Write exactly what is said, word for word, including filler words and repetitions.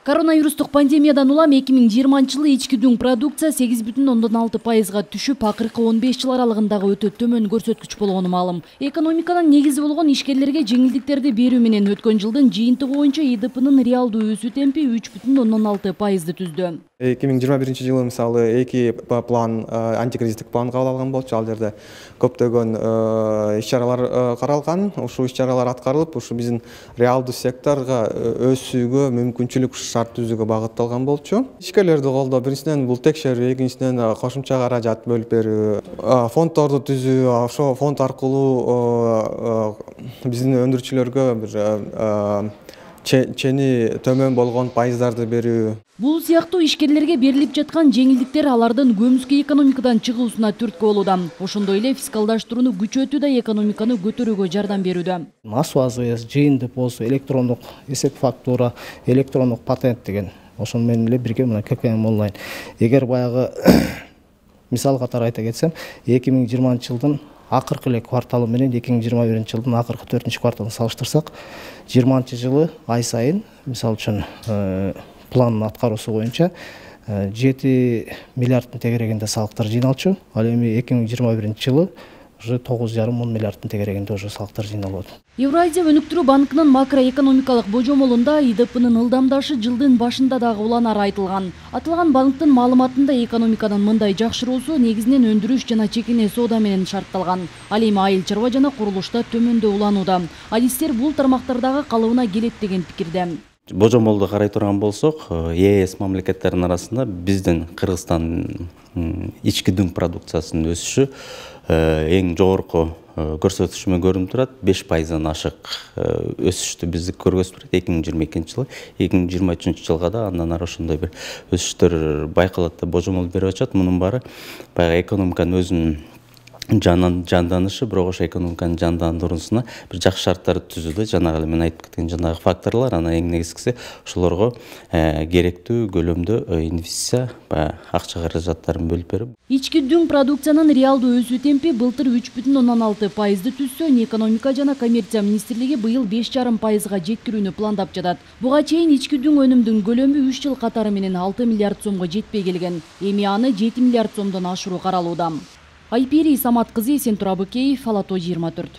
Коронавирустук пандемиядан улам эки миң жыйырманчы жылы ички дүң продукция сегиз бүтүн ондон алты пайызга түшүп, акыркы он беш жыл аралыгындагы өтө төмөн көрсөткүч болгону маалым. Экономиканын негизи болгон ишкерлерге жеңилдиктерди берүү менен өткөн жылдын жыйынтыгы боюнча И Д П'нын реалдуу өсүү темпи үч бүтүн ондон алты пайызды түздү. эки миң жыйырма биринчи жылы мисалы эки план, антикризистик план кабыл алган болчу. Ал жерде көптөгөн иш-чаралар каралган. Ушул иш-чаралар аткарылып, ушу биздин реалдуу секторго өсүүгө мүмкүнчүлүк шарт түзүүгө багытталган болчу. Ишкерлерди колдоо биринчиден бул текшерүү, экинчиден кошумча каражат бөлүп берүү, фонддорду түзүү, ошо фонд аркылуу биздин өндүрүүчүлөргө бир чени төмөн болгон пайыздарды берүү. Бул сыяктуу ишкерлерге берилип жаткан жеңилдиктер алардын көмүскө экономикадан чыгуусуна түрткү болууда. Ошондой эле фискалдаштырууну күчөтүү да экономиканы көтөрүүгө жардам берүүдө. Мас АЗС, жыйын депосу, электрондук эсеп фактура, электрондук патент деген ошону менен эле бирге мына К К М онлайн. Эгер баягы мисал катары айта кетсем, эки миң жыйырманчы жылдын акыркы эле кварталы менен эки миң жыйырма биринчи жылдын акыркы төртүнчү кварталын салыштырсак, жыйырманчы жылы ай сайын мисалы үчүн пландын аткаруусу боюнча жети миллиарддын тегерегинде салыктар жыйналчу. Ал эми эки миң жыйырма биринчи жылы уже тогуз жарым он миллиарддын тегерегинде уже салыктар жыйналып атат. Евразия өнүктүрүү банкынын макроэкономикалык божомолунда И Д П'нын ылдамдашы жылдын башында дагы уланары айтылган. Аталган банктын маалыматында экономиканын мындай жакшыруусу негизинен өндүрүш жана чекине соода менен шартталган. Ал эми айыл чарба жана курулушта төмөндө уланууда. Адистер бул тармактардагы калыбына келет деген пикирде. Божомолду карай турган болсок, Е Эс мамлекеттеринин арасында биздин Кыргызстан ички дүң продукциясынын өсүшү эң жогорку көрсөтүшмө көрүнүп турат. беш пайыздан ашык өсүштү бизди көргөзүп турат эки миң жыйырма экинчи жылы. эки миң жыйырма үчүнчү жылга да андан ары ошондой бир өсүштөр байкалат деп божомол берип атышат. Мунун баары баягы экономиканын өзүнүн жанданышы, бирок ошо экономиканын жандандыруусуна бир жакшы шарттарды түзүүдө жанагы эле мен айтып кеткен жанагы факторлор, анан эң негизгиси ошолорго керектүү көлөмдө инвестиция, баягы акча каражаттарын бөлүп берип. Ички дүң продукциянын реалдуу өсүү темпи былтыр үч бүтүн ондон алты пайызды түзсө, экономика жана коммерция министрлиги быйыл беш жарым пайызга жеткирүүнү пландап жатат. Буга чейин ички дүң өнүмдүн көлөмү үч жыл катары менен алты миллиард сомго жетпей келген. Эми аны жети миллиард сомдон ашыруу каралууда. Айпери Самат кызы, Сентур Абыкеев, Ала Тоо жыйырма төрт.